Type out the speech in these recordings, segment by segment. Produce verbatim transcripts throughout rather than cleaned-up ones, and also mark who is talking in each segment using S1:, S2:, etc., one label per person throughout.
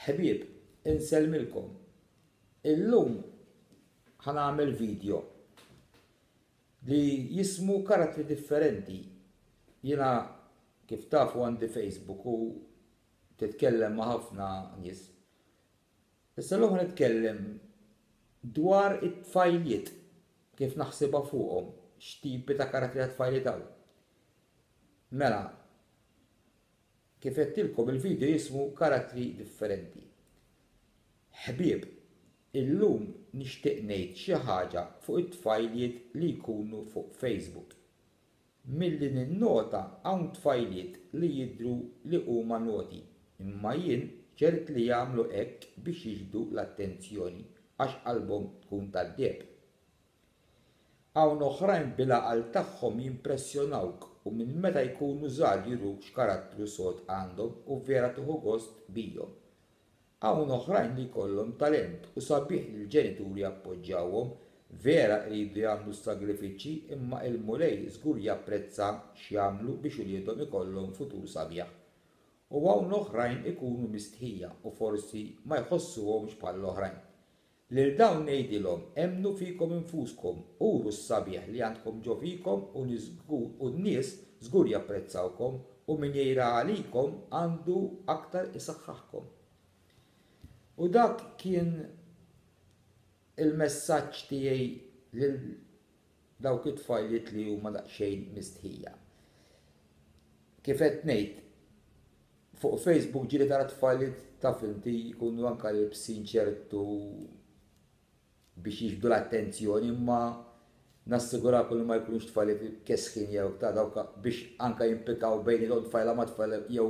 S1: Ħbieb, insellmilkom. Illum ħa nagħmel video li jismu "Karattri Differenti". Jiena, kif tafu, għandi Facebook u titkellem ma' ħafna nies. Issa llum ħa nitkellem dwar it-tfajliet, kif naħsibha fuqhom, x'tipi ta' karattri ta' tfajliet hawn. Mela, kif għedtilkom, il-video jismu "Karattri Differenti". Ħbieb, illum nixtieq ngħid xi ħaġa fuq it-tfajliet li jkunu fuq Facebook. Milli ninnota, hawn tfajliet li jidhru li huma naughty, imma jien ċert li jagħmlu hekk biex jiġbdu l-attenzjoni għax qalbhom tkun tad-deheb. Hawn oħrajn bil-għaqal tagħhom jimpressjonawk u minn meta jkunu żgħar juruk x'karattru sod għandhom u vera tieħu gost bihom. Hawn oħrajn li jkollhom talent u sabiħ li l-ġenituri jappoġġjawhom, vera jridu jagħmlu sagrifiċċji, imma il-Mulej żgur japprezza x'jagħmlu biex uliedhom ikollhom futur sabiħ. U hawn oħrajn ikunu mistħija u forsi ma jħossuhomx bħall-oħrajn. Lil dawn ngħidilhom: emmnu fikom infuskom, uru s-sabiħ li għandkom ġo fikom u n-nies żgur japprezzawkom u min jgħira għalikom għandu aktar isaħħaħkom. U dak kien il-messaġġ tiegħi lil dawk it-tfajliet li huma daqsxejn mistħija. Kif qed ngħid, fuq Facebook ġieli tara tfajliet, taf inti, jkunu anka libsin ċertu biex jiġbdu l-attenzjoni, imma nassigurakom li ma jkunux tfajliet kesħin jew ta' dawk biex anka jimpikaw bejn tfajla ma' tfajla jew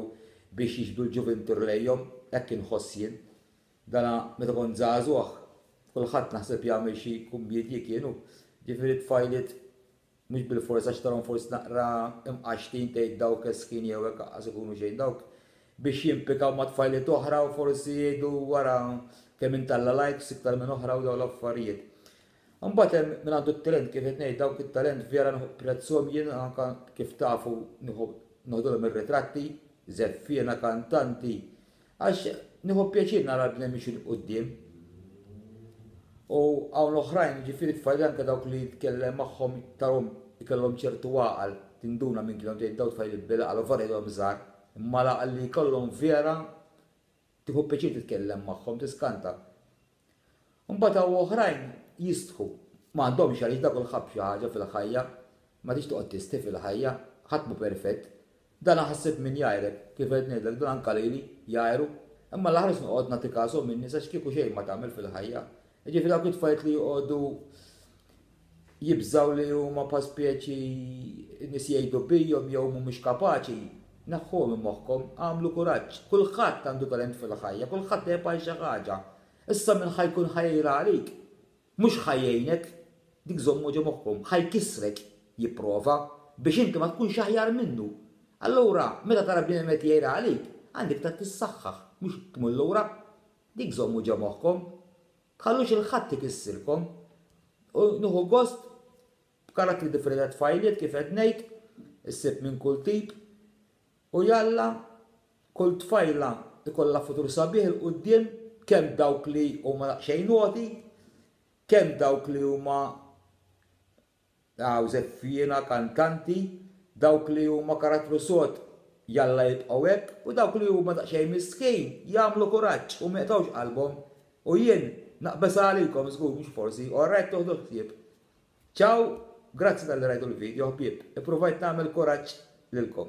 S1: biex jiġbdu l-ġuvintur lejhom, hekk inħoss jien. Dana meta kont żagħżugħ, kulħadd naħseb jagħmel xi kummedji kienu. Ġifieri tfajliet mhux bil-forsa x'tarahom forsi naqra imqaxtin tgħid dawk kesħin jew hekk, qas ikunu xejn dawk biex jimpikaw ma' tfajliet oħra u forsi jgħidu wara kemm intalla likes iktar minn oħra u dawn l-affarijiet. Imbagħad hemm min għandu t-talent, kif qed ngħid, dawk it-talent vera napprezzahom jien, anke kif tafu noħdulhom ir-ritratti, żeffiena, kantanti, għax nieħu pjaċir nara l-bniedem miexi 'l quddiem. U hawn oħrajn, ġifieri tfajliet, anke dawk li jitkellem magħhom tarahom ikollhom ċertu għaqal, tinduna minn kienu, tgħid daw tfajliet bil-għaqal u vera jgħidhom żgħar, imma l-għaqal li jkollhom vera tieħu pjaċir titkellem magħhom, tiskanta. Imbagħad hawn oħrajn jistħu. Ma għandhomx għaliex, dak kulħadd xi ħaġa fil-ħajja, ma tix toqgħod tistħi fil-ħajja, ħadd mhu perfett. Dan ħassib min jgħajrek, kif qed ngħidlek, dan anka lili jgħajru, imma l-aħħar noqgħod nagħti każhom min-nies għax kieku xejn ma tagħmel fil-ħajja. Ġifieri dawk it-tfajliet li joqogħdu jibżaw li huma pa speċi nies jgħidu bihom jew mhumiex kapaċi, neħħuhom minn moħħkom, għamlu kuraġġ. Kulħadd għandu talent fil-ħajja, kulħadd jaf xi ħaġa. Issa min ħa jkun ħa jgħir għalik, mhux ħa jgħinek, dik żommu ġo moħħkom, ħa jkissrek, jipprova biex inti ma tkunx aħjar minnu. Allura, meta tara bniedem qed jgħir għalik, għandek ta' tissaħħaħ, mhux tmur lura. Dik żommu ġo moħħkom. Tħallux 'il ħadd ikissirkom. U nieħu gost b'karattri differenti tfajliet, kif qed ngħid, issib minn kull tip. U jalla kull tfajla ikollha futur sabiħ 'il quddiem, kemm dawk li huma daqsxejn naughty, kemm dawk li huma għaw żeffiena, kantanti, dawk li huma karattru sod jalla jibqgħu hekk, u dawk li huma daqsxejn mistħin jagħmlu kuraġġ u ma jaqtgħux qalbhom. U jien naqbeż għalikom żgur, mhux forsi, alright, toħdu ħsieb. Ciao, grazzi talli rajtu l-video, ħbieb. Ippruvajt nagħmel kuraġġ lilkom.